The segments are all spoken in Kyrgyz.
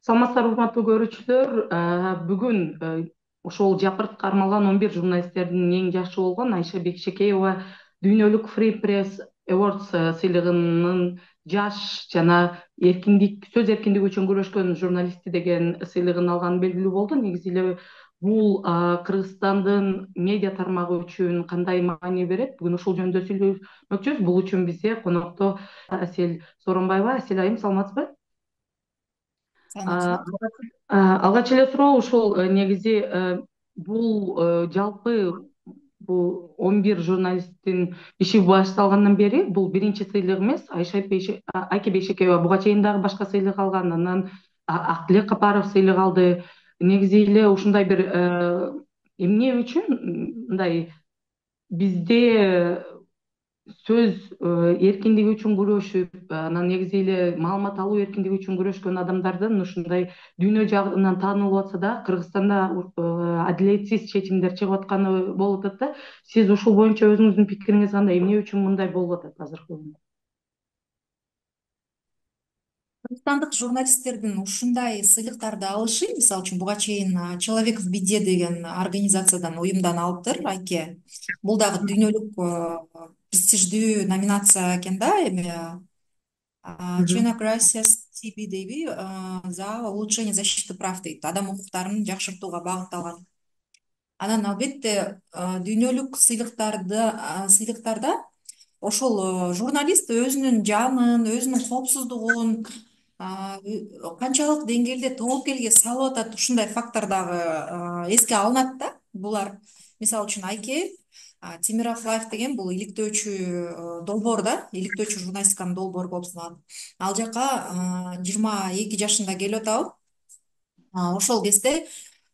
Саламатсыздарбы, урматтуу көрүүчүлөр. Бүгүн ошол жапырт кармалган 11 журналисттердин эң жашы болгон Айша Бекшекеева дүйнөлүк Free Press Awards сыйлыгынын жаш жана сөз эркиндиги үчүн күрөшкөн журналисти деген сыйлыгын алганы белгилүү болду. Негизи эле бул Кыргызстандын медиа тармагы үчүн кандай маани берет? Бүгүн ушул жөнүндө сүйлөшмөкчүбүз. Бул үчүн бизде конокто Асель Сооронбаева. Асель айым, саламатсызбы? Саламатсызбы? Алгач эле суроо ушул, негизи бул жалпы бул 11 журналисттин иши башталгандан бери бул биринчи сыйлык эмес. Айке Бейшекеева буга чейин дагы башка сыйлык алган, анан Актилек Капаров сыйлык алды. Негизи эле ушундай бир эмне үчүн мындай бизде сөз эркиндиги үчүн күрөшүп, анан негизи эле маалымат алуу эркиндиги үчүн күрөшкөн адамдардын ушундай дүйнө жагынан таанылып атса да, Кыргызстанда адилетсиз чечимдер чыгып атканы болуп атат да. Сиз ушул боюнча өзүңүздүн пикириңиз кандай? Эмне үчүн мындай болуп атат азыркы күндө? Кыргызстандык журналисттердин ушундай сыйлыктарды алышы, мисалы үчүн буга чейин Человек в беде деген организациядан, уюмдан алыптыр Айке. Бул дагы дүйнөлүк престиждүү номинация экен да, эми Мгм. Чена Gracias TB дейби, за улучшение защиты прав дейт, адам укуктарын жакшыртууга багытталган. Анан албетте дүйнөлүк сыйлыктарда ошол журналист өзүнүн жанын, өзүнүн коопсуздугун канчалык деңгээлде тобокелге салып атат, ушундай фактор дагы эске алынат да. Булар мисалы үчүн Айке Темиров Лайф деген бул иликтөөчү долбоор да, иликтөөчү журналистиканын долбоору болуп саналат. Ал жака 22 жашында келип атабы. Ошол кезде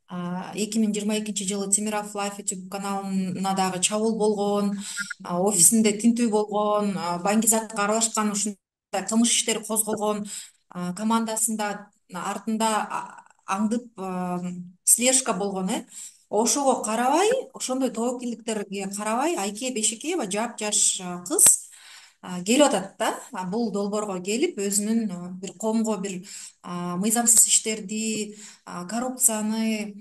2022 жылы Темиров Лайф YouTube каналына дагы чабуул болгон, офисинде тинтүү болгон, Баңгизатка аралашкан ушундай кылмыш иштери козголгон, командасында артында аңдып слежка болгон. Ошого карабай, ошондой тобокелдиктерге карабай, Айке Бейшекеева жапжаш кыз келип атат да. Бул долбоорго келип өзүнүн бир коомго бир мыйзамсыз иштерди, коррупцияны,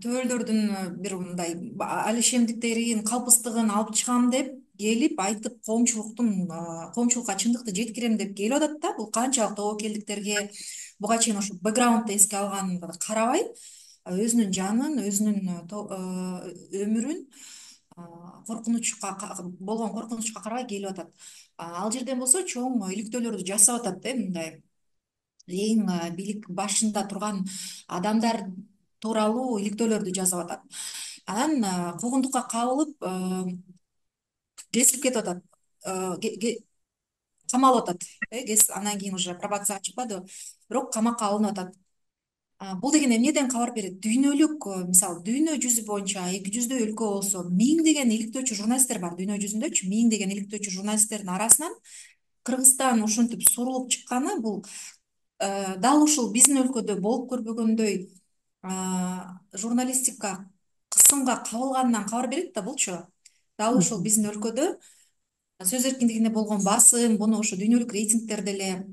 төбөлдөрдүн бир мындай алишемдиктерин, калпыстыгын алып чыгам деп келип айтып, коомчулукка чындыкты жеткирем деп келип атат да. Бул канчалык тобокелдиктерге буга чейин ошо бэкграундду эске алганына карабай, өзүнүн жанын, өзүнүн өмүрүн болгон коркунучка карабай келип атат. Ал жерден болсо чоң иликтөөлөрдү жасап атат да, мындай эң бийлик башында турган адамдар тууралуу иликтөөлөрдү жазып атат. Анан куугунтукка кабылып кесилип кетип атат. Камалып атат. Анан кийин уже пробацияга чыкпадыбы, бирок камакка алынып атат. Бул деген эмнеден кабар берет? Дүйнөлүк, мисалы дүйнө жүзү боюнча 200 өлкө болсо, миңдеген иликтөөчү журналисттер бар. Дүйнө жүзүндөчү миңдеген иликтөөчү журналисттердин арасынан Кыргызстан ушинтип сурулуп чыкканы, бул дал ушул биздин өлкөдө болуп көрбөгөндөй журналистика кысымга кабылганынан кабар берет да булчу. Дал ушул биздин өлкөдө сөз эркиндигине болгон басым, буну ошо дүйнөлүк рейтингдерде эле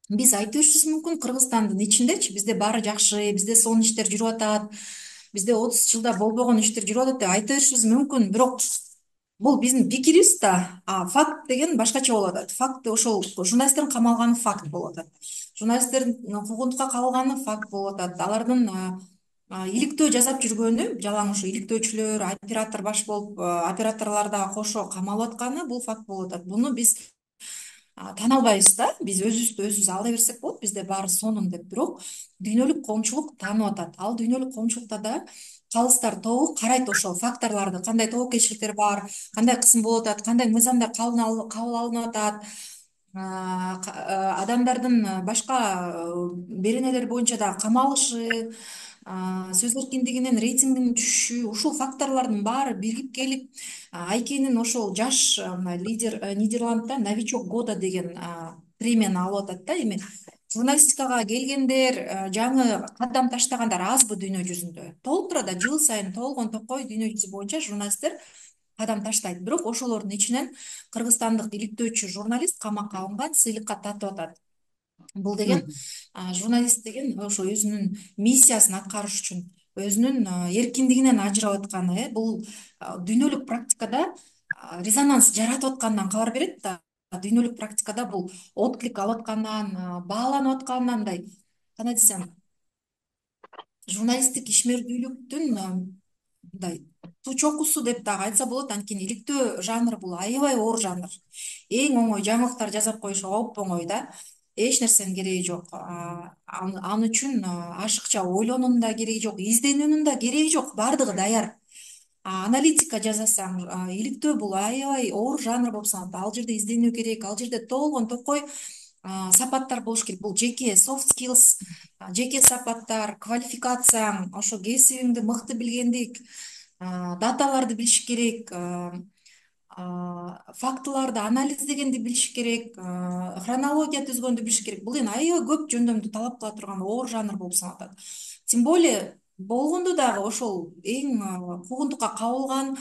биз айта беришибиз мүмкүн. Кыргызстандын ичиндечи бизде баары жакшы, бизде сонун иштер жүрүп атат, бизде 30 жылда болбогон иштер жүрүп атат деп айта беришибиз мүмкүн. Бирок бул биздин пикирибиз да, факт деген башкача болуп атат. Факт ошол журналисттердин камалганы факт болуп атат. Журналисттердин куугунтукка кабылганы факт болуп атат. Алардын иликтөө жасап жүргөнү, жалаң ушу иликтөөчүлөр, оператор баш болуп, операторлор дагы кошо камалып атканы бул факт болуп атат. Буну биз тана албайбыз да. Биз өзүбүздү өзүбүз ала берсек болот, бизде баары сонун деп. Бирок дүйнөлүк коомчулук таанып атат. Ал дүйнөлүк коомчулукта да калыстар тобу карайт ошол факторлорду, кандай тобокелчиликтер бар, кандай кысым болуп атат, кандай мыйзамдар кабыл алынып атат, адамдардын башка беренелер боюнча дагы камалышы, сөз эркиндигинин рейтингинин түшүшү, ушул факторлордун баары биригип келип Айкенин ошол жаш лидер, Нидерландда новичок года деген премияны алып атат да. Эми журналистикага келгендер, жаңы кадам таштагандар азбы дүйнө жүзүндө? Толуп турат да, жыл сайын толгон токой дүйнө жүзү боюнча журналисттер кадам таштайт. Бирок ошолордун ичинен кыргызстандык иликтөөчү журналист камакка алынган, сыйлыкка тартып атат. Бул деген журналист деген ошо өзүнүн миссиясын аткарыш үчүн өзүнүн эркиндигинен ажырап атканы, бул дүйнөлүк практикада резонанс жаратып атканынан кабар берет да. Дүйнөлүк практикада бул отклик алып атканынан, бааланып атканынан, мындай кандай десем, журналисттик ишмердүүлүктүн мындай суу чокусу деп дагы айтса болот. Анткени иликтөө жанр бул аябай оор жанр. Эң оңой жаңылыктар жасап коюш оп-оңой да. Эч нерсенин кереги жок. Ал үчүн ашыкча ойлонуунун да кереги жок, изденүүнүн да кереги жок. Баардыгы даяр. Аналитика жасасаң, иликтөө бул аябай оор жанр болуп саналат. Ал жерде изденүү керек, ал жерде толгон токой сапаттар болуш керек. Бул жеке soft skills, жеке сапаттар, квалификацияң, ошо кесибиңди мыкты билгендик, даталарды билиш керек, фактыларды анализдегенди билиш керек, хронология түзгөндү билиш керек. Бул эми аябай көп жөндөмдү талап кыла турган оор жанр болуп саналат. Тем более болгондо дагы ошол эң куугунтукка кабылган,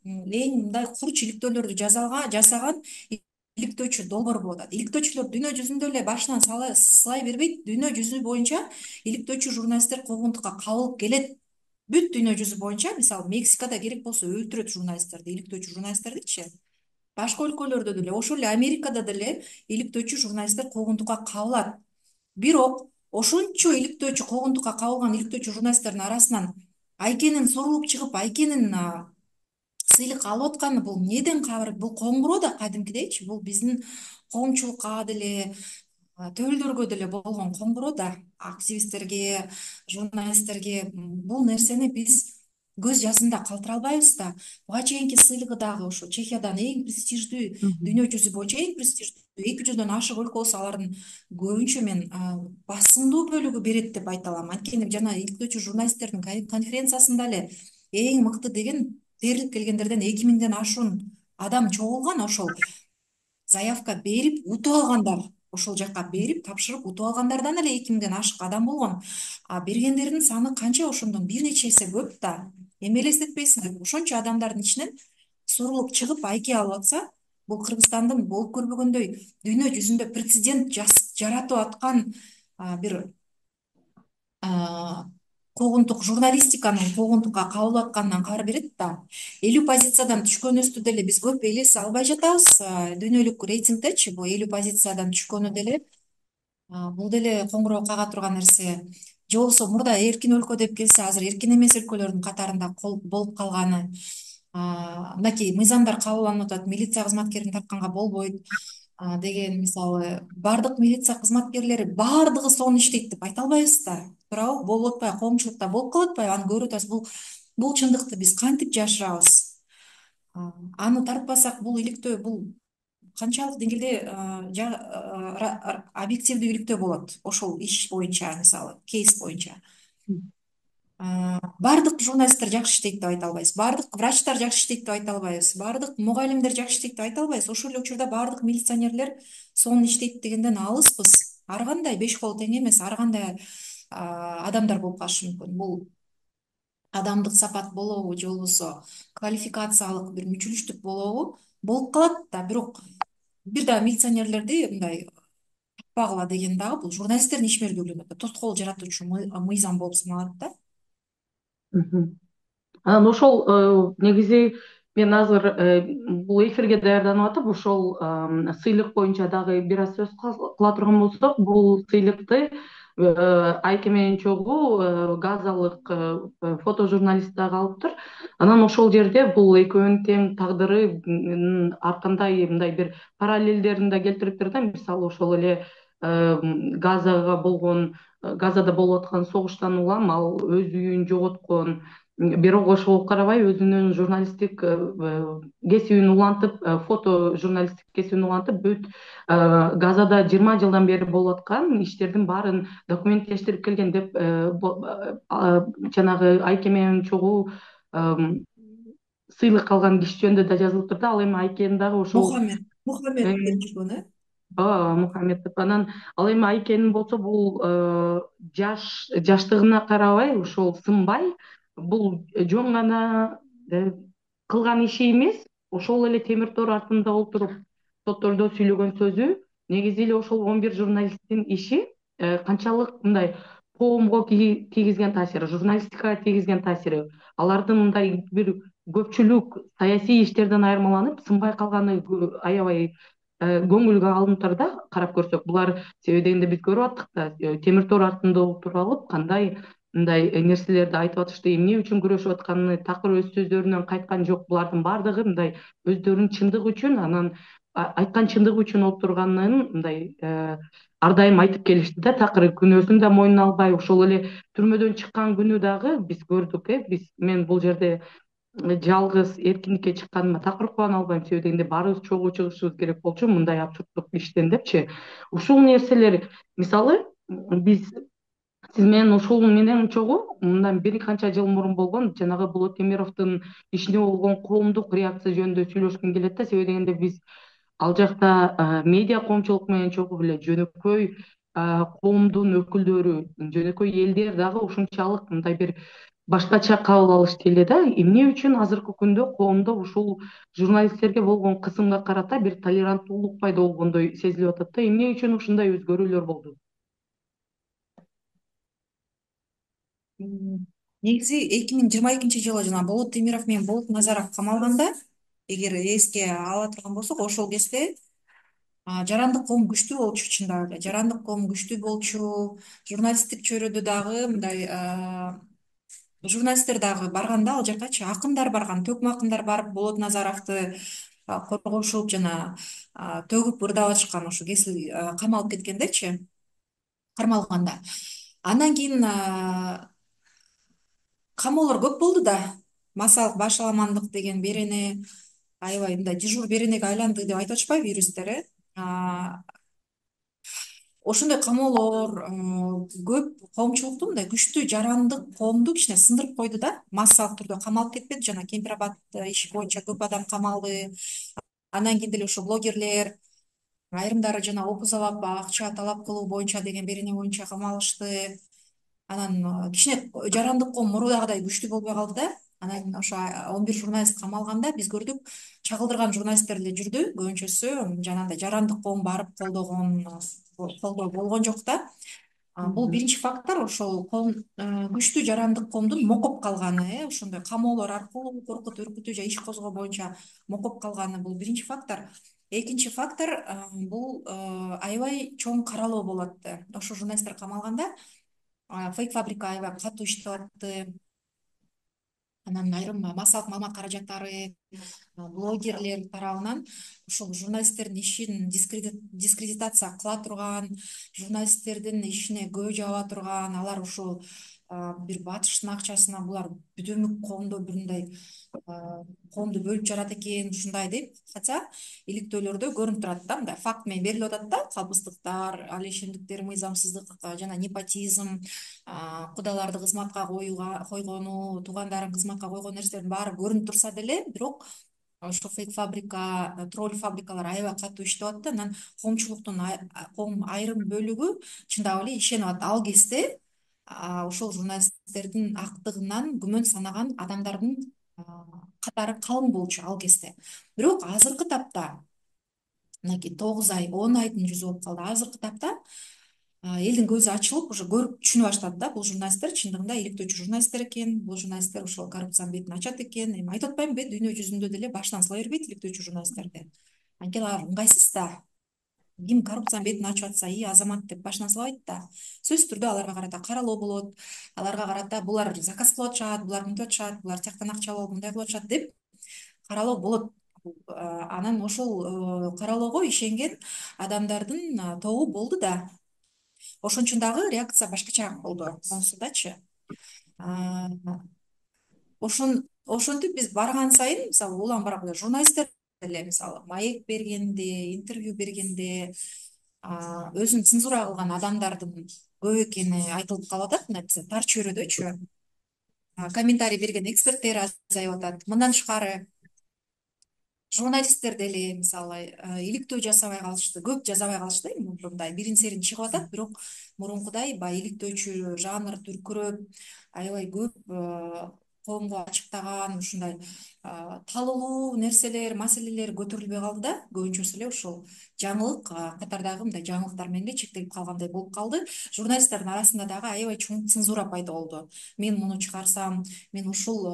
эң мындай курч иликтөөлөрдү жасаган иликтөөчү долбоор болуп атат. Иликтөөчүлөр дүйнө жүзүндө эле башынан сылай бербейт. Дүйнө жүзү боюнча иликтөөчү журналисттер куугунтукка кабылып келет. Бүт дүйнө жүзү боюнча, мисалы Мексикада керек болсо өлтүрөт журналисттерди, иликтөөчү журналисттердичи. Башка өлкөлөрдө деле, ошол эле Америкада деле иликтөөчү журналисттер куугунтукка кабылат. Бирок ошончо иликтөөчү, куугунтукка кабылган иликтөөчү журналисттердин арасынан Айкенин сурулуп чыгып, Айкенин сыйлык алып атканы бул эмнеден кабар? Бул коңгуроо да кадимкидейчи. Бул биздин коомчулукка деле, төбөлдөргө деле болгон коңгуроо да. Активисттерге, журналисттерге бул нерсени биз көз жазында калтыра албайбыз да. Буга чейинки сыйлыгы дагы ошо Чехиядан эң престиждүү, дүйнө жүзү боюнча эң престиждүү 200дөн ашык өлкө болсо, алардын көбүнчө мен басымдуу бөлүгү берет деп айта алам. Анткени жана иликтөөчү журналисттердин конференциясында эле эң мыкты деген терилип келгендерден 2000ден ашуун адам чогулган. Ошол заявка берип утуп алгандар, ошол жака берип тапшырып утуп алгандардан эле 2000ден ашык адам болгон. Бергендердин саны канча? Ошондон бир нече эсе көп да. Эми элестетпейсиңби? Ошончо адамдардын ичинен сурулуп чыгып айке алып атса, бул Кыргызстандын болуп көрбөгөндөй дүйнө жүзүндө прецедент жаратып аткан бир куугунтук, журналистиканын куугунтукка кабылып атканынан кабар берет да. 50 позициядан түшкөнүбүздү деле биз көп элесе албай жатабыз. Дүйнөлүк рейтингдечи бул 50 позициядан түшкөнү деле бул деле коңгуроо кага турган нерсе. Же болбосо мурда эркин өлкө деп келсе, азыр эркин эмес өлкөлөрдүн катарында болуп калганы. Мынакей мыйзамдар кабылданып атат, милиция кызматкерин тартканга болбойт деген, мисалы, бардык милиция кызматкерлери баардыгы сонун иштейт деп айта албайбыз да. Туурабы? Болуп атпайбы? Коомчулукта болуп калып атпайбы? Аны көрүп атабыз. Бул чындыкты биз кантип жашырабыз? Аны тартпасак, бул иликтөө бул канчалык деңгээлде объективдүү иликтөө болот ошол иш боюнча, мисалы кейс боюнча. Бардык журналисттер жакшы иштейт деп айта албайбыз, бардык врачтар жакшы иштейт деп айта албайбыз, бардык мугалимдер жакшы иштейт деп айта албайбыз. Ошол эле учурда бардык милиционерлер сонун иштейт дегенден алыспыз. Ар кандай беш кол тең эмес, ар кандай адамдар болуп калышы мүмкүн. Бул адамдык сапат болобу, же болбосо квалификациялык бир мүчүлүштүк болобу болуп калат да. Бирок бир дагы милиционерлерди мындай таппагыла деген дагы бул журналисттердин ишмердүүлүгүнө тоскоол жаратуучу мыйзам болуп саналат да. Анан ошол негизи мен азыр бул эфирге даярданып атып, ошол сыйлык боюнча дагы бир аз сөз кыла турган болсок, бул сыйлыкты Айке менен чогуу газалык фотожурналист дагы алыптыр. Анан ошол жерде бул экөөнүн тең тагдыры ар кандай мындай бир параллелдерин да келтириптир да. Мисалы ошол эле Газада болуп аткан согуштан улам ал өз үйүн жоготкон, бирок ошого карабай өзүнүн журналисттик кесибин улантып, фото журналисттик кесибин улантып, бүт Газада 20 жылдан бери болуп аткан иштердин баарын документтештирип келген деп жанагы Айке менен чогуу сыйлык алган киши жөнүндө да жазылыптыр да. Ал эми Айкенин дагы ошол Мухаммед деп жүргөн, Мухаммедов. Анан ал эми Айкенин болсо бул жаштыгына карабай ошол сынбай, бул жөн гана кылган иши эмес, ошол эле темир тор артында отуруп соттордо сүйлөгөн сөзү негизи эле ошол 11 журналисттин иши канчалык мындай коомго тийгизген таасири, журналистикага тийгизген таасири, алардын мындай бир көпчүлүк саясий иштерден айырмаланып сынбай калганы аябай көңүлгө алынып турат да, карап көрсөк. Булар себеби дегенде биз көрүп аттык да, темир тор артында отуруп алып кандай мындай нерселерди айтып атышты, эмне үчүн күрөшүп атканын такыр өз сөздөрүнөн кайткан жок. Булардын баардыгы мындай өздөрүнүн чындыгы үчүн, анан айткан чындыгы үчүн болуп турганын мындай ар дайым айтып келишти да, такыр күнөөсүн да мойнуна албай. Ошол эле түрмөдөн чыккан күнү дагы биз көрдүк, мен бул жерде жалгыз эркиндикке чыкканыма такыр кубана албайм, себеби дегенде баарыбыз чогуу чыгышыбыз керек болчу мындай абсурддук иштен депчи. Ушул нерселер, мисалы, биз сиз менен ушул менен чогуу мындан бир канча жыл мурун болгон жанагы Болот Темировдун ишине болгон коомдук реакция жөнүндө сүйлөшкүм келет да, себеби дегенде биз ал жакта медиа коомчулук менен чогуу эле жөнөкөй коомдун өкүлдөрү, жөнөкөй элдер дагы ушунчалык мындай бир башкача кабыл алышты эле да. Эмне үчүн азыркы күндө коомдо ушул журналисттерге болгон кысымга карата бир толеранттуулук пайда болгондой сезилип атат да, эмне үчүн ушундай өзгөрүүлөр болду? Негизи 2022 жылы жана Болот Темиров менен Болот Назаров камалганда, эгер эске ала турган болсок, ошол кезде жарандык коом күчтүү болчу, чындап эле жарандык коом күчтүү болчу. Журналисттик чөйрөдө дагы мындай журналисттер дагы барганда, ал жаккачы акындар барган, төкмө акындар барып Болот Назаровду коргошуп жана төгүп ырдап атышкан, ошо кесил камалып кеткендечи, кармалганда. Андан кийин камоолор көп болду да, массалык башаламандык деген берене аябай мындай дежур беренеге айланды деп айтып атышпайбы юристтер. Ошондой камоолор көп коомчулукту, мындай күчтүү жарандык коомду кичине сындырып койду да, массалык түрдө камалып кетпеди. Жана Кемпир Абад иши боюнча көп адам камалды. Андан кийин деле ошо блогерлер айрымдары жана опузалап акча талап кылуу боюнча деген берене боюнча камалышты. Анан кичине жарандык коом мурдагыдай күчтүү болбой калды да. Анан ошо 11 журналист камалганда биз көрдүк, чагылдырган журналисттер эле жүрдү. Көбүнчөсү жанагындай жарандык коом барып колдоо болгон жок да. Бул биринчи фактор, ошол коом, күчтүү жарандык коомдун мокоп калганы, ошондой камоолор аркылуу коркутуу, үркүтүү же иш козгоо боюнча мокоп калганы, бул биринчи фактор. Экинчи фактор, бул аябай чоң каралоо болуп атты. Ошо журналисттер камалганда фейк фабрика аябай катуу иштеп атты. Анан айрым массалык маалымат каражаттары, блогерлер тарабынан ушул журналисттердин ишин дискредитация кыла турган, журналисттердин ишине көө жаба турган, алар ушул бир батыштын акчасына булар бүдөмүк коомдо бир мындай коомду бөлүп жарат экен, ушундай деп. Хотя иликтөөлөрдө көрүнүп турат да, мындай факт менен берилип атат да, калпыстыктар, ал ишемдиктер, мыйзамсыздык жана непотизм, кудаларды кызматка койгону, туугандарын кызматка койгон нерселердин баары көрүнүп турса деле, бирок ошо фейк фабрика, тролль фабрикалар аябай катуу иштеп атты. Анан коомчулуктун айрым бөлүгү чындап эле ишенип атты. Ал кезде ошол журналисттердин актыгынан күмөн санаган адамдардын катары калың болчу ал кезде. Бирок азыркы тапта, мынакей 9 ай, 10 айдын жүзү болуп калды. Азыркы тапта элдин көзү ачылып, уже көрүп түшүнө баштады да, бул журналисттер чындыгында иликтөөчү журналисттер экен, бул журналисттер ошол коррупциянын бетин ачат экен. Эми айтып атпаймынбы, дүйнө жүзүндө деле башынан сыла бербейт иликтөөчү журналисттерди. Анткени алар ыңгайсыз да. Ким коррупциянын бетин ачып атса, азамат деп башынан сылабайт да. Сөзсүз түрдө аларга карата каралоо болот. Аларга карата булар заказ кылып атышат, булар мынтип атышат, булар тияктан акча алып мындай кылып атышат деп каралоо болот. Анан ошол каралоого ишенген адамдардын тобу болду да. Ошон үчүн дагы реакция башкачараак болду монусудачы. Ошентип биз барган сайын, мисалы, улам-барак журналисттер деле, мисалы, маек бергенде, интервью бергенде өзүн цензура кылган адамдардын көп экени айтылып калып атат. Мына тар чөйрөдөчү комментарий берген эксперттер азайып атат. Мындан тышкары журналисттер деле, мисалы, иликтөө жасабай калышты, көп жасабай калышты. Мындай бирин серин чыгып атат, бирок мурункудай баягы иликтөөчү жанр дүркүрөп, аябай көп коомго ачыктаган ушундай талуулуу нерселер, маселелер көтөрүлбөй калды да, көбүнчөсү эле ушул жаңылык катардагы мындай жаңылыктар менен эле чектелип калгандай болуп калды. Журналисттардын арасында дагы аябай чоң цензура пайда болду. Мен муну чыгарсам, мен ушул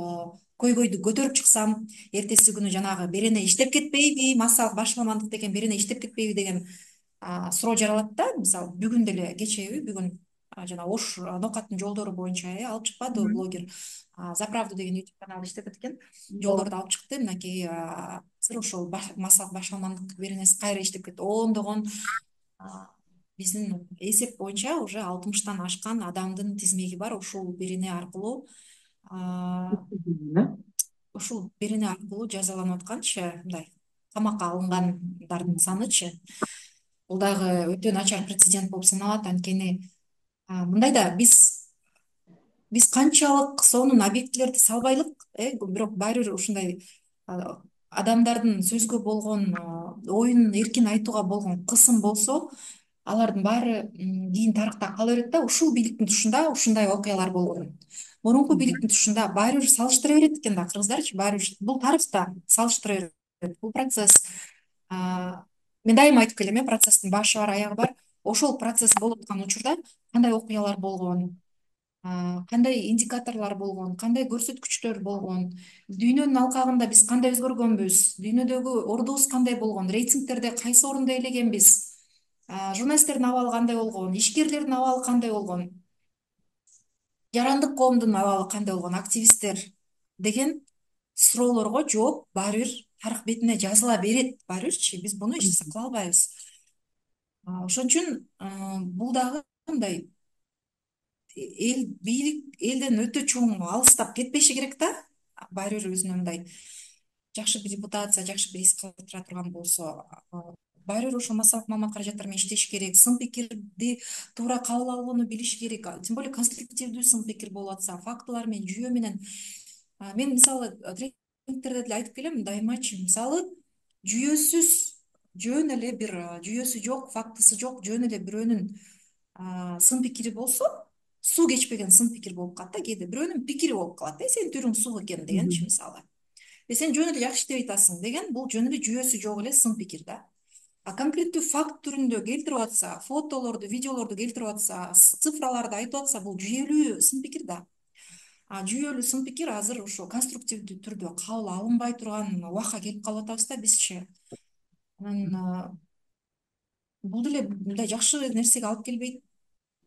көйгөйдү көтөрүп чыксам, эртеси күнү жанагы берене иштеп кетпейби, массалык башаламандык деген берене иштеп кетпейби деген суроо жаралат да. Мисалы бүгүн деле кечеби бүгүн жана Ош ноокаттын жолдору боюнча алып чыкпадыбы блогер За правду деген YouTube канал иштетет экен. Жолдорду алып чыкты. Мынакей азыр ошол массалык башаламандык беренеси кайра иштеп кетти. Ондогон биздин эсеп боюнча уже 60-тан ашкан адамдын тизмеги бар. Ушул берене аркылуу жазаланып атканчы, мындай камакка алынгандардын санычы, бул дагы өтө начар прецедент болуп саналат. Анткени мындайда биз канчалык сонун объектилерди салбайлык, бирок баары бир ушундай адамдардын сөзгө болгон оюн эркин айтууга болгон кысым болсо, алардын баары кийин тарыхта кала берет да. Ушул бийликтин тушунда ушундай окуялар болгон. Мурунку бийликтин тушунда баары бир салыштыра берет экен да кыргыздарчы, баары бир бул тарыхта салыштыра берет. Бул процесс мен дайыма айтып келем, процесстин башы бар, аягы бар. Ошол процесс болуп аткан учурда кандай окуялар болгон, кандай индикаторлор болгон, кандай көрсөткүчтөр болгон, дүйнөнүн алкагында биз кандай өзгөргөнбүз, дүйнөдөгү ордубуз кандай болгон, рейтингтерде кайсы орунду ээлегенбиз, журналисттердин абалы кандай болгон, ишкерлердин абалы кандай болгон, жарандык коомдун абалы кандай болгон, активисттер деген суроолорго жооп баары бир тарых бетине жазыла берет. Баары бирчи биз буну эч нерсе кыла албайбыз. Ошон үчүн бул дагы мындай бийлик элден өтө чоң алыстап кетпеши керек да. Баары бир өзүнө мындай жакшы бир репутация, жакшы бир эс калтыра турган болсо, баары бир ошо массалык маалымат каражаттары менен иштеш керек, сын пикирди туура кабыл алууну билиш керек. Тем более конструктивдүү сын пикир болуп атса, фактылар менен, жүйө менен. Мен мисалы тренингтерде деле айтып келем дайымачы, мисалы жүйөсүз, жөн эле бир жүйөсү жок, фактысы жок, жөн эле бирөөнүн сын пикири болсо, суу кечпеген сын пикир болуп калат да. Кээде бирөөнүн пикири болуп калат, сенин түйрүң суу экен дегенчи мисалы. Сен жөн эле жакшы иштеп атасың деген, бул жөн эле жүйөсү жок эле сын пикир да. Конкреттүү факт түрүндө келтирип атса, фотолорду, видеолорду келтирип атса, цифраларды айтып атса, бул жүйөлүү сын пикир да. Жүйөлүү сын пикир азыр ошо конструктивдүү түрдө кабыл алынбай турган убакка келип калып атабыз да бизчи. Анан бул деле мындай жакшы нерсеге алып келбейт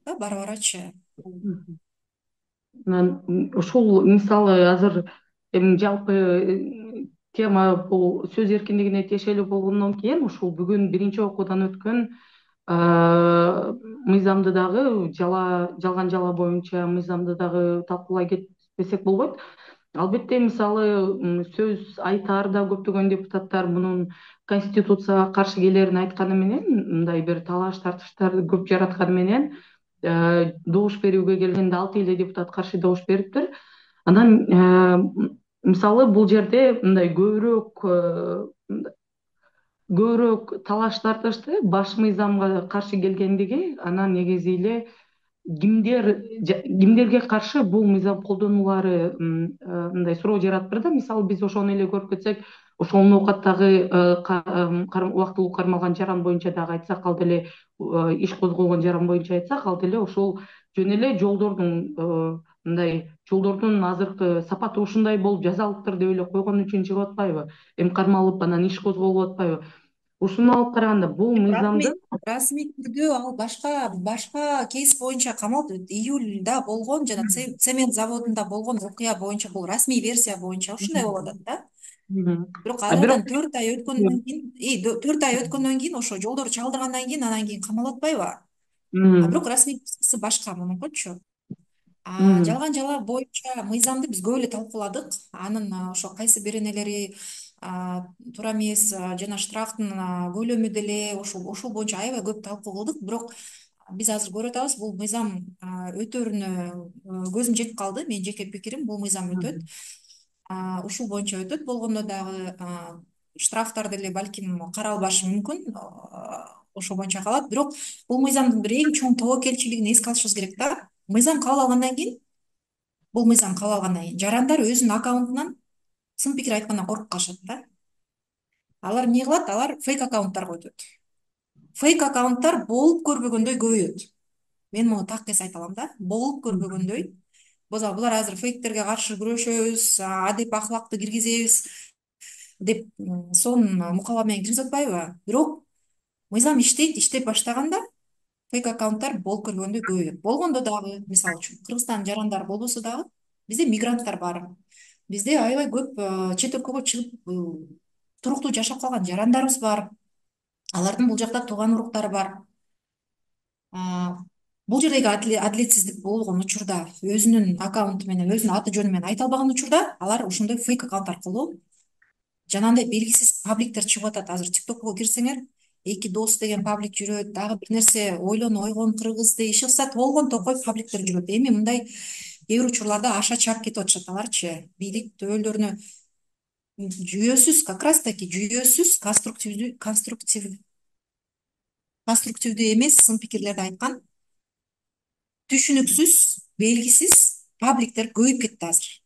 да бара барачы. Ушул мисалы азыр эми жалпы тема бул сөз эркиндигине тиешелүү болгондон кийин ушул бүгүн биринчи окуудан өткөн мыйзамды дагы жалган жала боюнча мыйзамды дагы талкуулай кетпесек болбойт. Албетте мисалы сөз айтаар да көптөгөн депутаттар мунун конституцияга каршы келерин айтканы менен, мындай бир талаш тартыштарды көп жаратканы менен добуш берүүгө келгенде 6 эле депутат каршы добуш бериптир. Анан мисалы бул жерде мындай көбүрөөк талаш тартышты баш мыйзамга каршы келгендиги, анан негизи эле кимдерге каршы бул мыйзам колдонулары мындай суроо жаратыптыр да. Мисалы биз ошону эле көрүп кетсек, ошол ноокаттагы убактылуу кармалган жаран боюнча дагы айтсак, ал деле иш козголгон жаран боюнча айтсак, ал деле ошол жөн эле жолдордун азыркы сапаты ушундай болуп жасалыптыр деп эле койгон үчүн чыгып атпайбы, эми кармалып анан иш козголуп атпайбы. Ушуну алып караганда бул мыйзамды расмий түрдө ал башка кейс боюнча камалып, июлда болгон жана цемент заводунда болгон окуя боюнча бул расмий версия боюнча ушундай болуп атат да. Бирок арадан 4 ай өткөндөн кийин ошо жолдорду чалдыргандан кийин анан кийин камалып атпайбы. Бирок расмий башка мунукучу. Жалган жала боюнча мыйзамды биз көп эле талкууладык. Анын ошо кайсы беренелери туура эмес жана штрафтын көлөмү деле ошол боюнча аябай көп талкуу кылдык. Бирок биз азыр көрүп атабыз, бул мыйзам өтөрүнө көзүм жетип калды. Менин жеке пикирим, бул мыйзам өтөт. Ушул боюнча өтөт. Болгондо дагы штрафтар деле балким каралбашы мүмкүн, ошол боюнча калат. Бирок бул мыйзамдын бир эң чоң тобокелчилигин эске алышыбыз керек да. Мыйзам кабыл алгандан кийин бул мыйзам кабыл алгандан кийин жарандар өзүнүн аккаунтунан сын пикир айткандан коркуп калышат да. Алар эмне кылат? Алар фейк аккаунттар койтот. Фейк аккаунттар болуп көрбөгөндөй көбөйөт. Мен муну так эс айта алам да. Болуп көрбөгөндөй. Булар азыр фейктерге каршы күрөшөбүз, адеп ахлакты киргизебиз деп сонун мукаба менен киргизип атпайбы? Бирок мыйзам иштейт, иштеп баштаганда фейк аккаунттар болуп көрбөгөндөй көбөйөт. Болгондо дагы, мисалы үчүн, Кыргызстандын жарандары болбосо дагы бизде мигранттар бар. Бизде аябай көп чет өлкөгө чыгып туруктуу жашап калган жарандарыбыз бар. Алардын бул жакта тууган уруктары бар. Бул жердеги адилетсиздик болгон учурда, өзүнүн аккаунту менен, өзүнүн аты жөнү менен айта албаган учурда, алар ошондой фейк аккаунт аркылуу жанагындай белгисиз пабликтер чыгып атат. Азыр ТикТокко кирсеңер, эки дос деген паблик жүрөт, дагы бир нерсе ойлон ойгон кыргыз деп иши кылса болгон токой пабликтер жүрөт. Эми мындай кээ бир учурларда аша чаап кетип атышат аларчы. Бийлик төбөлдөрүнө жүйөсүз, как раз таки жүйөсүз, конструктивдүү эмес сын пикирлерди айткан, түшүнүксүз, белгисиз пабликтер көбөйүп кетти азыр.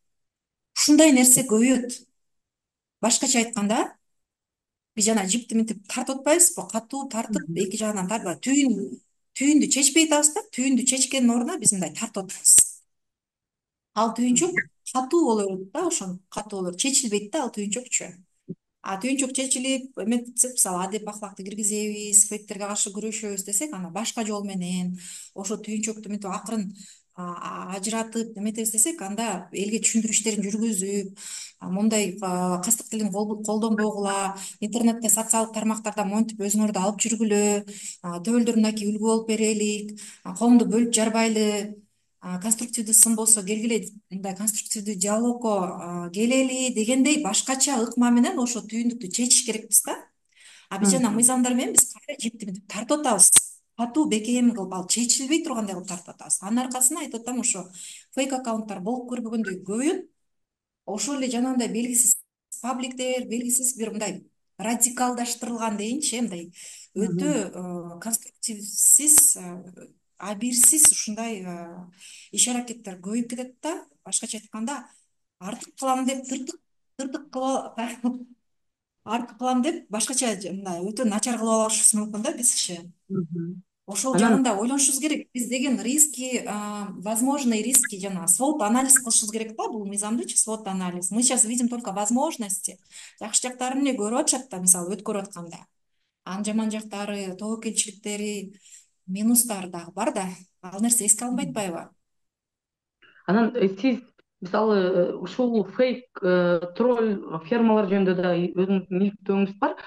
Ушундай нерсе көбөйөт. Башкача айтканда, биз жана жипти мынтип тартып атпайбызбы? Катуу тартып, эки жагынан тартып, түйүндү чечпей атабыз да, түйүндү чечкендин ордуна биз мындай тартып атабыз. Ал түйүнчөк катуу боло берет да, ошон катуу боло берет. Чечилбейт да ал түйүнчөкчү. Түйүнчөк чечилип эметсек, мисалы адеп ахлакты киргизебиз, фейктерге каршы күрөшөбүз десек, ана башка жол менен ошо түйүнчөктү мынтип акырын ажыратып эметебиз десек, анда элге түшүндүрүү иштерин жүргүзүп, момундай кастык тилин колдонбогула, интернетте, социалдык тармактарда монтип өзүңөрдү алып жүргүлө, төбөлдөр мынакей үлгү болуп берелик, коомду бөлүп жарбайлы, конструктивдүү сын болсо келгиле, мындай конструктивдүү диалогко келели дегендей башкача ыкма менен ошо түйүндүктү чечиш керекпиз да. Биз жана мыйзамдар менен биз кайра жипти мынтип тартып атабыз. Катуу бекем кылып, ал чечилбей тургандай кылып тартып атабыз. Анын аркасында айтып атам, ошо фейк аккаунттар болуп көрбөгөндөй көбөйөт. Ошол эле жанагындай белгисиз пабликтер, белгисиз бир мындай радикалдаштырылган дейинчи, мындай өтө конструктивсиз, абийирсиз ушундай иш аракеттер көбөйүп кетет да. Башкача айтканда, артык кылам деп тыртык кылып артык кылам деп башкача мындай өтө начар кылып алышыбыз мүмкүн да бизчи. Ошол Анан жагын да ойлонушубуз керек. Биз деген риски, возможный риски жана свод анализ кылышыбыз керек да, бул мыйзамдычы свод анализ. Мы сейчас видим только возможности. Жакшы жактарын эле көрүп атышат да, мисалы өткөрүп атканда. Анын жаман жактары, тобокелчиликтери, минустары дагы бар да. Ал нерсе эске алынбай атпайбы? анан сиз мисалы ушул фейк тролль фермалар жөнүндө да өзүңүздүн иликтөөңүз бар.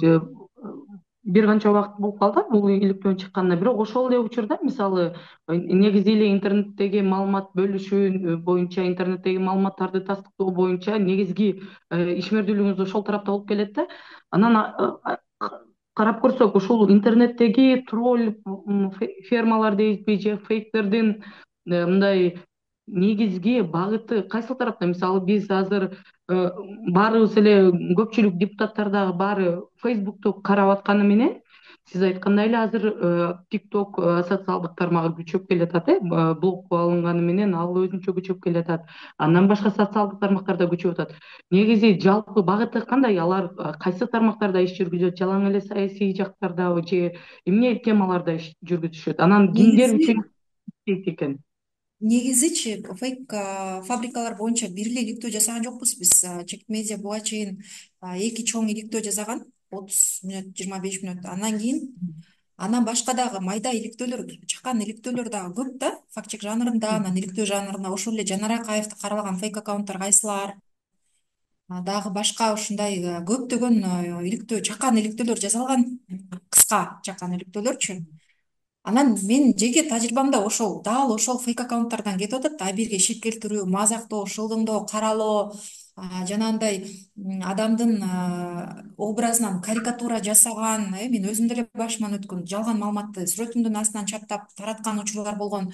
Же бир канча убакыт болуп калды бул иликтөөнүн чыкканына. Бирок ошол эле учурда мисалы негизи эле интернеттеги маалымат бөлүшүү боюнча, интернеттеги маалыматтарды тастыктоо боюнча негизги ишмердүүлүгүңүз ошол тарапта болуп келет да. Анан карап көрсөк, ушул интернеттеги тролль фермалар дейбизби же фейктердин мындай негизги багыты кайсыл тарапта? Мисалы биз азыр баарыбыз эле, көпчүлүк депутаттар дагы баары Фейсбукту карап атканы менен, сиз айткандай эле азыр ТикТок социалдык тармагы күчөп келатат, блок алынганы менен ал өзүнчө күчөп келатат. Андан башка социалдык тармактар да күчөп атат. Негизи жалпы багыты кандай? Алар кайсы тармактарда иш жүргүзөт? Жалаң эле саясий жактардабы же эмне темаларда иш жүргүзүшөт? Анан кимдер Негизи үчүн иштейт экен? негизичи фейк фабрикалар боюнча бир эле иликтөө жасаган жокпуз биз. Чекит медиа буга чейин эки чоң иликтөө жасаган, 30 мүнөт, 25 мүнөт. Андан кийин андан башка дагы майда иликтөөлөр, чакан иликтөөлөр дагы көп да, факт чек жанрында, анан иликтөө жанрында. Ошол эле Жанар Акаевди каралаган фейк аккаунттар кайсылар, дагы башка ушундай көптөгөн иликтөө, чакан иликтөөлөр жасалган, кыска чакан иликтөөлөрчү. Анан менин жеке тажрыйбамда ошол дал ошол фейк аккаунттардан кетип атат да. Абийирге шек келтирүү, мазактоо, шылдыңдоо, каралоо, жанагындай адамдын образынан карикатура жасаган, мен өзүм деле башыман өткөн, жалган маалыматты сүрөтүмдүн астынан чаптап тараткан учурлар болгон,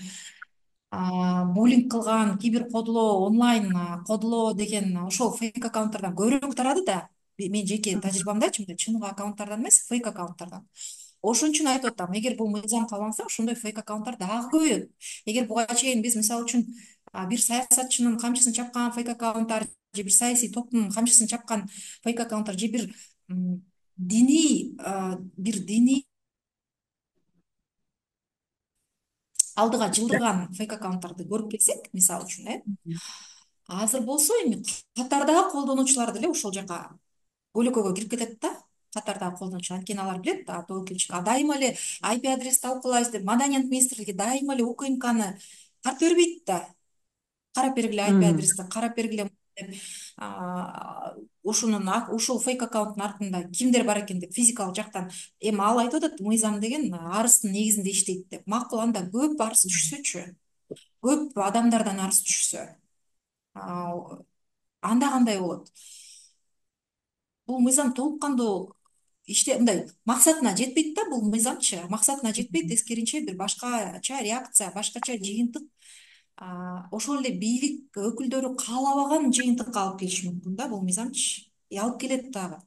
буллинг кылган, кибер кодулоо, онлайн кодулоо деген ошол фейк аккаунттардан көбүрөөк тарады да. Мен жеке тажрыйбамдачы, мындай чын аккаунттардан эмес, фейк аккаунттардан. Ошон үчүн айтып атам, эгер бул мыйзам кабыл алынса, ошондой фейк аккаунттар дагы көбөйөт. Эгер буга чейин биз мисалы үчүн бир саясатчынын камчысын чапкан фейк аккаунттар же бир саясий топтун камчысын чапкан фейк аккаунттар же бир диний алдыга жылдырган фейк аккаунттарды көрүп келсек, мисалы үчүн, азыр болсо эми катардагы колдонуучулар деле ошол жака көйлөкөгө кирип кетет да. Катардагы колдонуучу, анткени алар билет тобокелчик дайыма эле IP адрес талкуулайбыз деп Маданият министрлиги дайыма эле УКМКны тартып бербейт да. Карап бергиле IP Мгм. адрести, карап бергиле деп ушул фейк аккаунттун артында кимдер бар экен деп физикалык жактан. Эми ал айтып атат, мыйзам деген арыздын негизинде иштейт деп. Макул, анда көп арыз түшсөчү, көп адамдардан арыз түшсө, анда кандай болот? Бул мыйзам толук кандуу мындай максатына жетпейт да, бул мыйзамчы максатына жетпейт, тескерисинче бир башкача реакция, башкача жыйынтык, ошол эле бийлик өкүлдөрү каалабаган жыйынтыкка алып келиши мүмкүн да бул мыйзамчы. Алып келет дагы.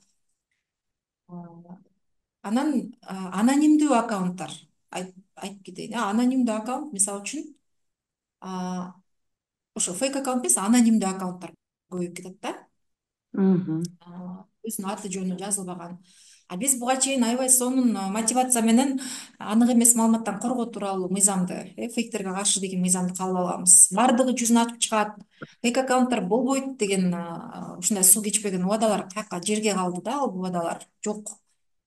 Анан анонимдүү аккаунттар айтып кетейин. Анонимдүү аккаунт, мисалы үчүн, ошо фейк аккаунт эмес, анонимдүү аккаунттар көбөйүп кетет да. Мгм. Өзүнүн аты жөнү жазылбаган. Биз буга чейин аябай сонун мотивация менен анык эмес маалыматтан коргоо тууралуу мыйзамды, фейктерге каршы деген мыйзамды кабыл алганбыз. Бардыгы жүзүн ачып чыгат, фейк аккаунттар болбойт деген ушундай суу кечпеген убадалар каяка жерге калды да, ал убадалар жок.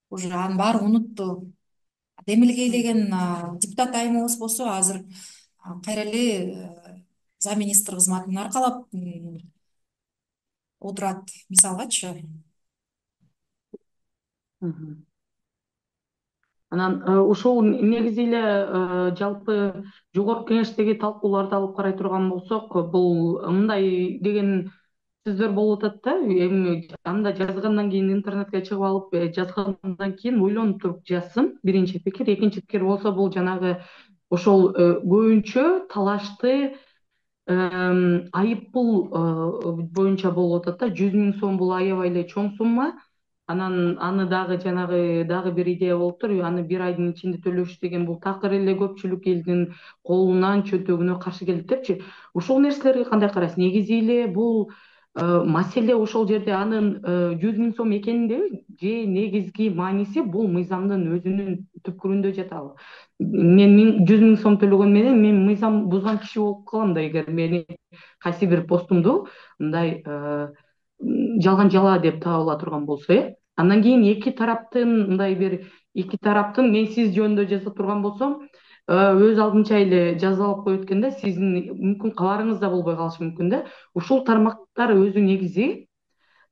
Уже анын баары унутту. Демилгейлеген депутат айымыбыз болсо азыр кайра эле замминистр кызматын аркалап отурат, мисалгачы. Мгм. Анан ушул негизи эле жалпы жогорку кеңештеги талкууларды алып карай турган болсок, бул мындай деген сөздөр болуп атат да, эми анда жазгандан кийин интернетке чыгып алып жазгандан кийин ойлонуп туруп жазсын. Биринчи пикир, экинчи пикир болсо бул жанагы ошол көбүнчө талашты айыппул боюнча болуп атат да. 100.000 сом бул аябай эле чоң сумма. Анан аны дагы жанагы дагы бир идея болуптур. Аны бир айдын ичинде төлөш деген бул такыр эле көпчүлүк элдин колунан чөнтөгүнө каршы келет депчи. Ушул нерселерге кандай карайсыз? Негизи эле бул маселе ошол жерде анын 100.000 сом экенинде, же негизги мааниси бул мыйзамдын өзүнүн түпкүрүндө жатабы? Мен 100.000 сом төлөгөн менен мен мыйзам бузган киши болуп калам да, эгер мени кайсы бир постумду мындай жалган жала деп таап ала турган болсо. Андан кийин эки тараптын мен сиз жөнүндө жаза турган болсом, өз алдынча эле жазалап коет экен да, сиздин мүмкүн кабарыңыз да болбой калышы мүмкүн да. Ушул тармактар өзү негизи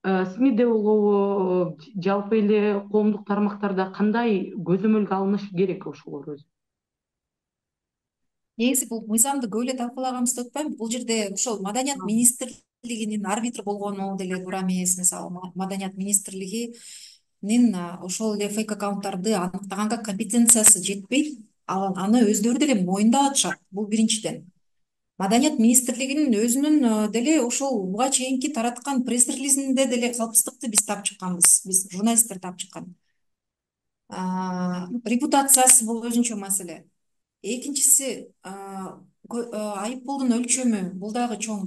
СМИде болобу, жалпы эле коомдук тармактарда кандай көзөмөлгө алынышы керек ошолор өзү? Негизи бул мыйзамды көп эле талкуулаганыбызды утпайбы? Бул жерде ошол Маданият министрлигинин арбитр болгону деле туура эмес. Мисалы, Маданият министрлигинин ошол эле фейк аккаунттарды аныктаганга компетенциясы жетпейт. Аны өздөрү деле моюндап атышат. Бул биринчиден. Маданият министрлигинин өзүнүн деле ошол буга чейинки тараткан пресс-релизинде деле калпсыздыкты биз таап чыкканбыз. Биз журналисттер таап чыккан. Репутациясы бул өзүнчө маселе. Экинчиси, айыппулдун өлчөмү бул дагы чоң.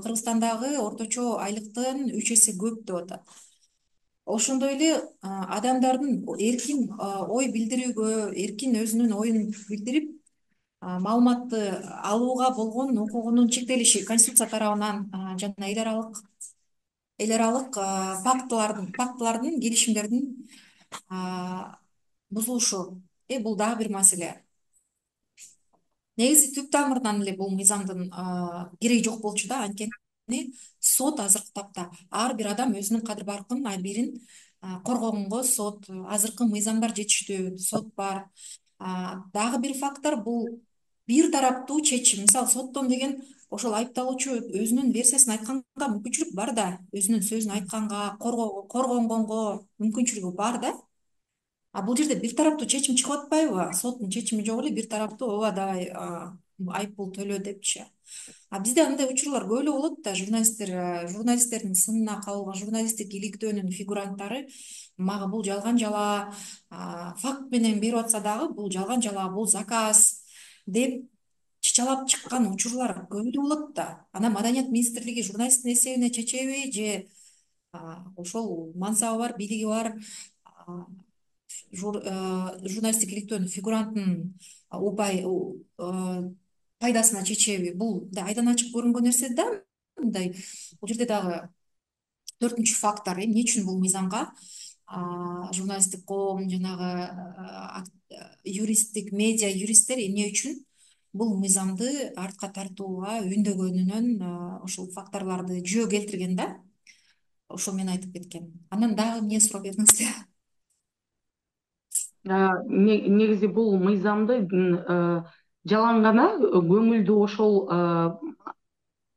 Кыргызстандагы орточо айлыктын 3 эсе көп деп атат. Ошондой эле адамдардын эркин ой билдирүүгө, эркин өзүнүн оюн билдирип, маалыматты алууга болгон укугунун чектелиши Конституция тарабынан жана эл аралык фактылардын, келишимдердин бузулушу. Бул дагы бир маселе. Негизи түп тамырынан эле бул мыйзамдын кереги жок болчу да, анткени сот азыркы тапта ар бир адам өзүнүн кадыр баркын, абийирин коргогонго азыркы мыйзамдар жетиштүү, сот бар. Дагы бир фактор бул бир тараптуу чечим. Мисалы, соттон деген ошол айыпталуучу өзүнүн версиясын айтканга мүмкүнчүлүк бар да, өзүнүн сөзүн айтканга, коргонгонго мүмкүнчүлүгү бар да. Бул жерде бир тараптуу чечим чыгып атпайбы? Соттун чечими жок эле, бир тараптуу ооба давай айыппул төлө депчи. Бизде андай учурлар көп эле болот да. Журналисттердин сынына кабылган, журналисттик иликтөөнүн фигуранттары мага бул жалган жала, факт менен берип атса дагы бул жалган жала, бул заказ деп кышчалап чыккан учурлар көбүдө болот да. Анан Маданият министрлиги журналисттин эсебине чечеби же ошол мансабы бар, бийлиги бар журналисттик иликтөөнүн фигуранттын упай пайдасына чечеби, бул мындай айдан ачык көрүнгөн нерсе да. Мындай бул жерде дагы төртүнчү фактор, эмне үчүн бул мыйзамга журналисттик коом, жанагы юристтик медиа юристтер эмне үчүн бул мыйзамды артка тартууга үндөгөнүнөн ошол факторлорду жөө келтирген да. Ошол менен айтып кеткен. Анан дагы эмне суроо бердиңиз? Негизи бул мыйзамды жалаң гана көңүлдү ошол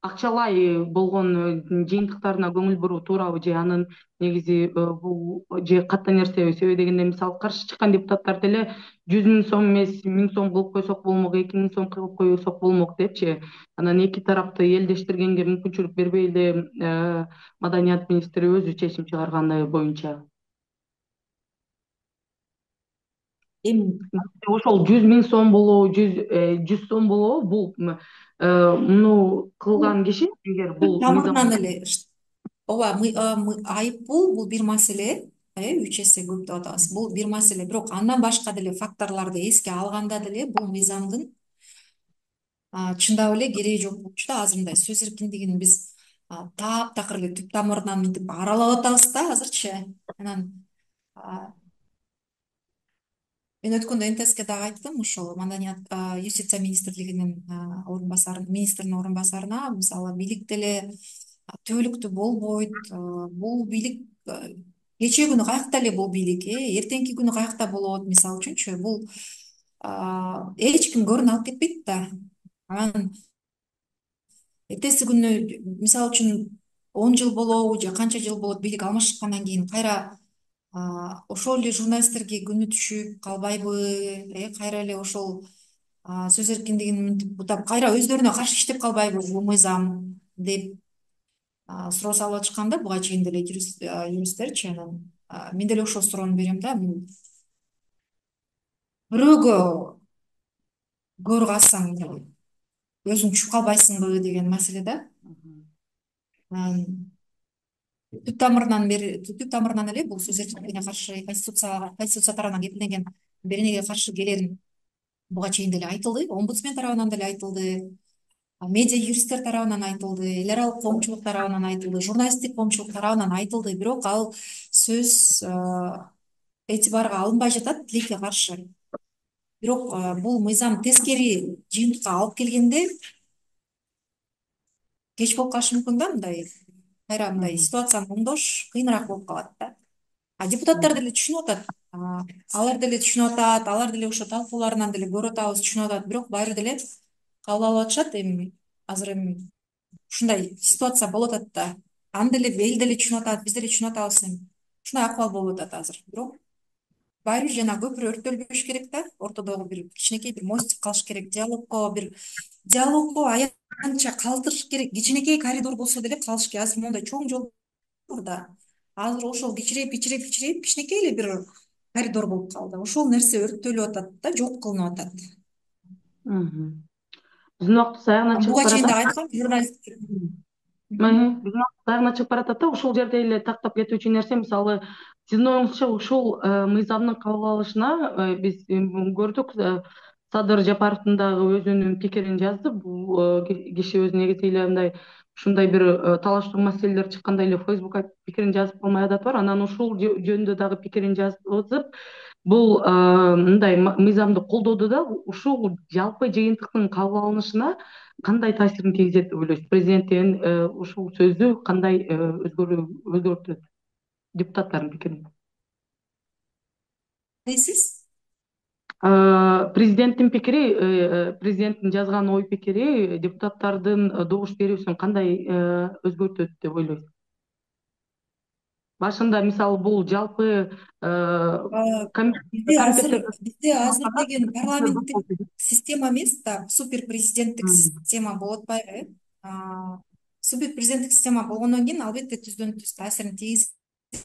акчалай болгон жыйынтыктарына көңүл буруу туурабы, же анын негизи бул же катта нерсеби? Себеби дегенде мисалы каршы чыккан депутаттар деле 100.000 сом эмес 1000 сом кылып койсок болмок, 2000 сом кылып койсок болмок депчи. Анан эки тарапты элдештиргенге мүмкүнчүлүк бербей эле Маданият министри өзү чечим чыгарганы боюнча. Эми Ошол 100.000 сом болобу, 100 сом болобу, бул муну кылган киши эгер түп бул тамырынан мыйзам. эле ооба, айыппул бул бир маселе, 3 эсе көп деп атабыз. Бул бир маселе, бирок андан башка деле факторлорду эске алганда деле бул мыйзамдын чындап эле кереги жок болчу да. Азыр мындай сөз эркиндигин биз таптакыр эле түп тамырынан мынтип аралап атабыз да азырчы. Анан мен өткөндө НТСке дагы айттым, ошол Маданият юстиция министрлигинин министринин орун басарына, мисалы бийлик деле түбөлүктүү болбойт. Бул бийлик кечээ күнү каякта эле бул бийлик, эртеңки күнү каякта болот, мисалы үчүнчү. Бул эч ким көрүн алып кетпейт да. Анан эртеси күнү мисалы үчүн 10 жыл болобу же канча жыл болот, бийлик алмашкандан кийин кайра ошол эле журналисттерге күнү түшүп калбайбы, кайра эле ошол сөз эркиндигин мынтип бутап кайра өздөрүнө каршы иштеп калбайбы бул мыйзам деп суроо салып атышкан да буга чейин деле юристтерчи. Анан мен деле ошол суроону берем да. Бирөөгө көрү калсаң өзүң түшүп калбайсыңбы деген маселе да. Түп тамырынан эле бул сөз эркиндигине каршы конституция тарабынан кепилденген беренеге каршы келерин буга чейин деле айтылды, омбудсмен тарабынан деле айтылды, медиа юристтер тарабынан айтылды, эл аралык коомчулук тарабынан айтылды, журналисттик коомчулук тарабынан айтылды. Бирок ал сөз этибарга алынбай жатат, тилекке каршы. Бирок бул мыйзам тескери жыйынтыкка алып келгенде кеч болуп калышы мүмкүн да. Кайра мындай ситуацияны оңдош кыйыныраак болуп калат да. Депутаттар деле түшүнүп атат, алар деле түшүнүп атат, алар деле ошо талкууларынан деле көрүп атабыз, түшүнүп атат. Бирок баары деле кабыл алып атышат. Азыр ушундай ситуация болуп атат да. Аны деле эл деле түшүнүп атат, биз деле түшүнүп атабыз. Ушундай акыбал болуп атат азыр. Бирок баары бир жана көпүрө өрттөлбөш керек да. Ортодогу бир кичинекей бир мостик калыш керек. Диалогго аянтча калтырыш керек. Кичинекей коридор болсо деле калыш керек. Азыр моундай чоң жол бар да. Азыр ошол кичирейип кичинекей эле бир коридор болуп калды. Ошол нерсе өрттөлүп атат да, жок кылынып атат. Биздин убактыбыз аягына чыгып Буга чейин баратат. дагы айткам, журналист. Биздин убактыбыз аягына чыгып баратат да. Ушул жерде эле тактап кетүүчү нерсе, мисалы сиздин оюңузча ушул мыйзамдын кабыл алышына биз көрдүк, Садыр Жапаровдун дагы өзүнүн пикирин жазды. Бул киши өзү негизи эле мындай ушундай бир талаштуу маселелер чыкканда эле Фейсбукка пикирин жазып калмай адаты бар. Анан ушул жөнүндө дагы пикирин жазып, бул мындай мыйзамды колдоду да. Ушул жалпы жыйынтыктын кабыл алынышына кандай таасирин тийгизет деп ойлойсуз? Президенттин ушул сөзү кандай өзгөртөт депутаттардын пикирин? Дейсиз? Президенттин пикири, президенттин жазган ой пикири депутаттардын добуш берүүсүн кандай өзгөртөт деп ойлойсуз? Башында мисалы бул жалпы Бизде азыр деген парламенттик система эмес да, супер президенттик система болуп атпайбы? Супер президенттик система болгондон кийин албетте түздөн түз таасирин тийгизет.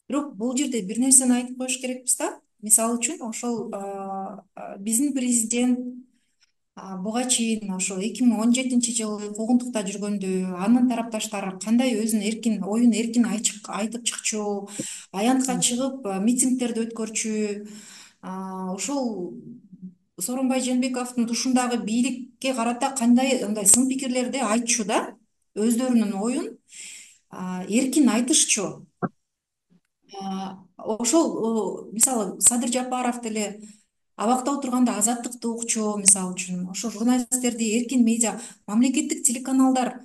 Бирок бул жерде бир нерсени айтып коюш керекпиз да. Мисалы үчүн ошол биздин президент Буга чейин ошо 2017 жылы куугунтукта жүргөндө анын тарапташтары кандай өзүнүн оюн эркин айтып чыкчу, аянтка чыгып митингдерди өткөрчү, ошол Сооронбай Жээнбековдун тушундагы бийликке карата кандай ындай сын пикирлерди айтчу да, өздөрүнүн оюн эркин айтышчу. Ошол мисалы Садыр Жапаров деле абакта отурганда азаттыкты укчу, мисалы үчүн ошо журналисттерди эркин медиа, мамлекеттик телеканалдар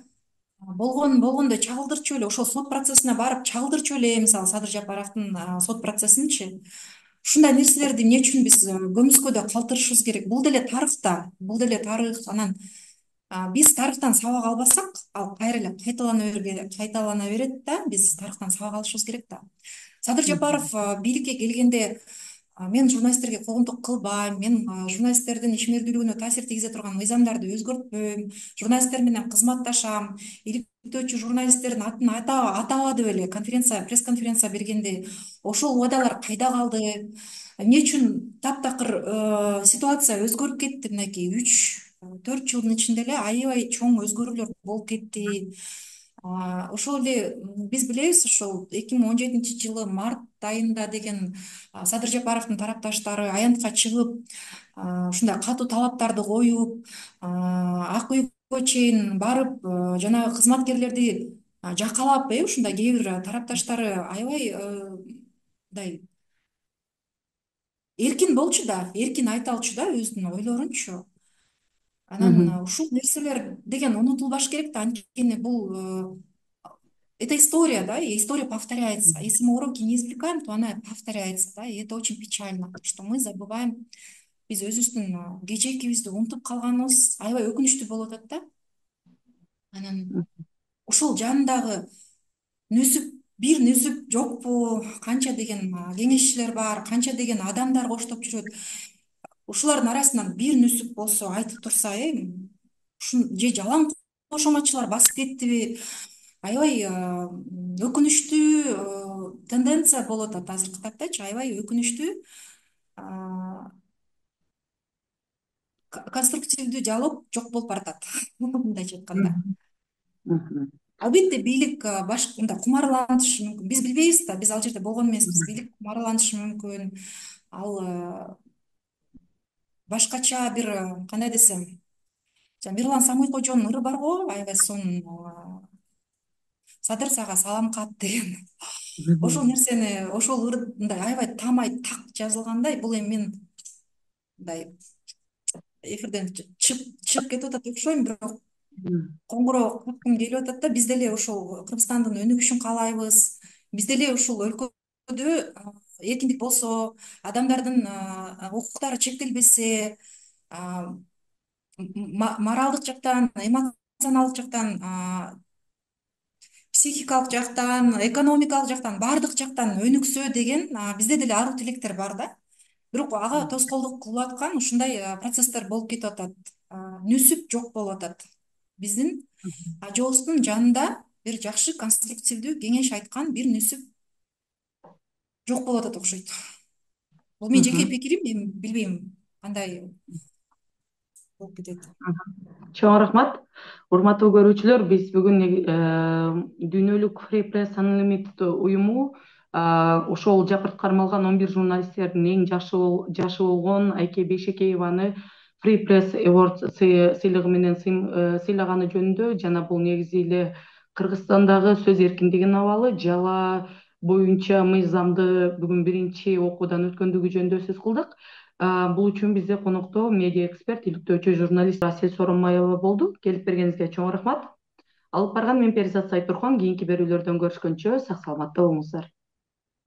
болгондо чагылдырчу эле, ошол сот процессине барып чагылдырчу эле, мисалы Садыр Жапаровдун сот процессинчи. Ушундай нерселерди эмне үчүн биз көмүскөдө калтырышыбыз керек? Бул деле тарых. Анан биз тарыхтан сабак албасак, ал кайра эле кайталана берет да, биз тарыхтан сабак алышыбыз керек да. Садыр Жапаров бийликке келгенде мен журналисттерге куугунтук кылбайм, мен журналисттердин ишмердүүлүгүнө таасир тийгизе турган мыйзамдарды өзгөртпөйм, журналисттер менен кызматташам, иликтөөчү журналисттердин атын атабады беле пресс-конференция бергенде. Ошол убадалар кайда калды? Эмне үчүн таптакыр ситуация өзгөрүп кетти? Мынакей 3-4 жылдын ичинде эле аябай чоң өзгөрүүлөр болуп кетти. Ошол эле биз билебиз, ошол 2017 жылы март айында деген Садыр Жапаровдун тарапташтары аянтка чыгып, ушундай катуу талаптарды коюп, ак үйгө чейин барып, жанагы кызматкерлерди жакалап, ушундай кээ бир тарапташтары аябай мындай эркин болчу да, эркин айта алчу да өзүнүн ойлорунчу. Анан ушул нерселер деген унутулбаш керек да, анткени бул это история, да, и история повторяется. Если мы уроки не извлекаем, то она повторяется, да, и это очень печально, что мы забываем, биз өзүбүздүн кечээкибизди унутуп калганыбыз аябай өкүнүчтүү болуп атат да. Анан ушул жанындагы бир нүсүп жокпу, канча деген кеңешчилер бар, канча деген адамдар коштоп жүрөт. Ушулардын арасынан бир нүсүп болсо айтып турса, же жалаң кошоматчылар басып кеттиби? Аябай өкүнүчтүү тенденция болуп атат азыркы таптачы, аябай өкүнүчтүү. Конструктивдүү диалог жок болуп баратат, мындайча айтканда. Албетте бийлик мындай кумарланышы мүмкүн. Биз билбейбиз да, биз ал жерде болгон эмеспиз. Бийлик кумарланышы мүмкүн. Ал башкача бир кандай десем, Мирлан Самыйкожонун ыры бар го, аябай сонун Садыр сага салам кат деген. Ошол нерсени, ошол ыр мындай аябай таамай так жазылгандай, бул эми мен мындай эфирден чыгып кетип атат окшойм, бирок коңгуроо каккым келип атат да. Биз деле ошол Кыргызстандын өнүгүшүн каалайбыз. Биз деле ушул өлкөдө эркиндик болсо, адамдардын укуктары чектелбесе, моралдык жактан, эмоционалдык жактан, психикалык жактан, экономикалык жактан, баардык жактан өнүксө деген бизде деле аруу тилектер бар да. Бирок ага тоскоолдук кылып аткан ушундай процесстер болуп кетип атат. Нүсүп жок болуп атат. Биздин ажообуздун жанында бир жакшы конструктивдүү кеңеш айткан бир нүсүп жок болуп атат окшойт. Бул менин жеке пикирим, мен билбейм кандай болуп кетет. Чоң рахмат. Урматтуу көрүүчүлөр, биз бүгүн Дүйнөлүк Free Press Unlimited уюму ошол жапырт кармалган 11 журналисттердин эң жашы болгон Айке Бейшекееваны Free Press Award сыйлыгы менен сыйлаганы жөнүндө жана бул негизи эле Кыргызстандагы сөз эркиндигинин абалы, жала боюнча мыйзамды бүгүн биринчи окуудан өткөндүгү жөнүндө сөз кылдык. Бул үчүн бизде конокто медиа эксперт, иликтөөчү журналист Асель Сооронбаева болду. Келип бергениңизге чоң рахмат. Алып барган мен Перизат Сайтурхан. Кийинки берүүлөрдөн көрүшкөнчө сак саламатта болуңуздар.